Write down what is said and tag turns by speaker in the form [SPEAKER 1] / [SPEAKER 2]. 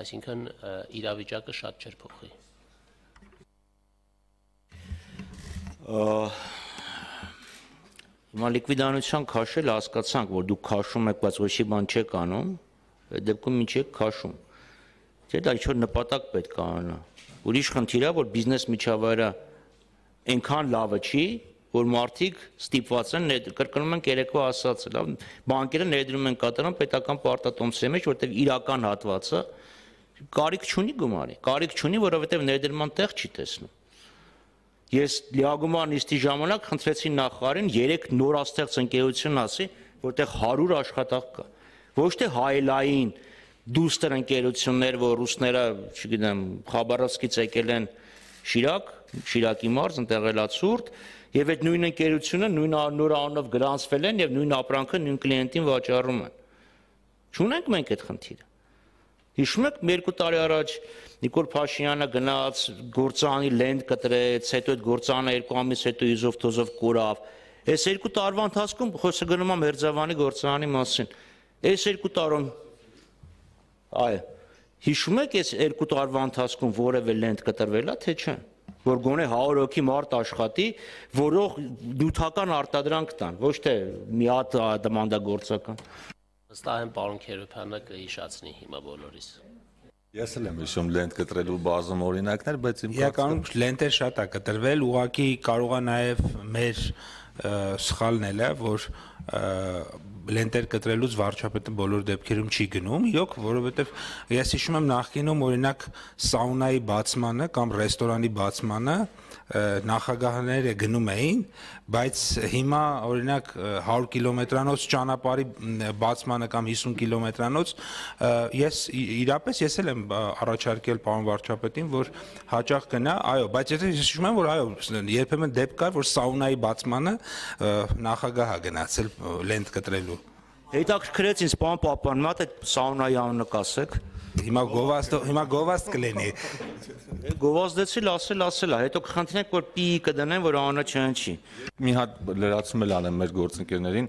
[SPEAKER 1] այսինքն իրավիճակը շատ չէր փոխի։
[SPEAKER 2] Հիմա լիկվիդանության քաշել հասկացանք, որ դուք քաշում եք, բայց ոչի բան չեք անում, այդ դեպքում ինչ եք քաշում։ Չէ՞ դա ինչ-որ նպատակ պետք է անա։ Ուրիշ խնդիր է, որ բիզնես միջավայրը այնքան լավը չի, որ մարդիկ ստիպված են կրկնում ենք երեկվա ասածը, լավ, բանկերը ներդրում են կատարում պետական պարտատոմսի մեջ, որտեղ իրական հատվածը կարիք չունի գումարի, կարիք չունի, որովհետև ներդրման տեղ չի տեսնում։ Ես լիագումար նիստի ժամանակ խնդրեցի նախարարին 3 նորաստեղծ ընկերություն ասի, որտեղ 100 աշխատող կա։ Ոչ թե հայելային դուստր ընկերություններ, որ ռուսները, չգիտեմ, Խաբարովսկից եկել են Շիրակի մարզ, ընտեղ էլ ցուրտ, եւ այդ նույն ընկերությունը նույն նոր անունով գրանցվել են եւ նույն ապրանքը նույն կլիենտին վաճառում են։ Չունենք մենք այդ խնդիրը։ Հիշում եք, 2 տարի առաջ Նիկոլ Փաշինյանը գնաց գործարանի լենդ կտրեց, հետո այդ գործարանը 2 ամիս հետո իզով թոզով կորավ։ Այս 2 տարվա ընթացքում խոսքը գնում է Մերձավանի գործարանի մասին։ Այս 2 տարում այո, հիշում եք, այս 2 տարվա ընթացքում որևէ լենդ կտրվել է, թե չէ, որ գոնե 100 հոգի մարդ աշխատի, որող նյութական արտադրանք տան, ոչ թե մի հատ դմանդագործական։
[SPEAKER 1] Վստահ եմ պարոն Քերոբյանը կհիշացնի հիմա բոլորիս։
[SPEAKER 3] Ես էլ եմ հիշում լենդ կտրելու բազում օրինակներ, բայց իմ
[SPEAKER 4] իրականում լենտեր շատ է կտրվել, ուղղակի կարող է նաև մեր սխալն էլ է, որ լենտեր կտրելուց վարչապետը բոլոր դեպքերում չի գնում, իրոք, որովհետև ես հիշում եմ նախկինում օրինակ սաունայի բացմանը կամ ռեստորանի բացմանը նախագահները գնում էին, բայց հիմա օրինակ 100 կիլոմետրանոց ճանապարհի բացմանը կամ 50 կիլոմետրանոց ես էլ եմ առաջարկել պարոն վարչապետին, որ հաճախ գնա, այո, բայց ես հիշում եմ, որ այո, երբեմն դեպք կար, որ սաունայի բացմանը նախագահը գնացել լենտ կտրելու։
[SPEAKER 2] Հետաքրքրեց ինձ պարոն Պապյան, մատ այդ սաունայի անունը կասեք։
[SPEAKER 4] Հիմա գովաստ կլինի։
[SPEAKER 2] Գովազդեցի ասել, հետո կխնդրենք, որ պի կդնեն, որ անունը չհնչի։
[SPEAKER 3] մի հատ լրացում էլ անեմ մեր գործընկերներին,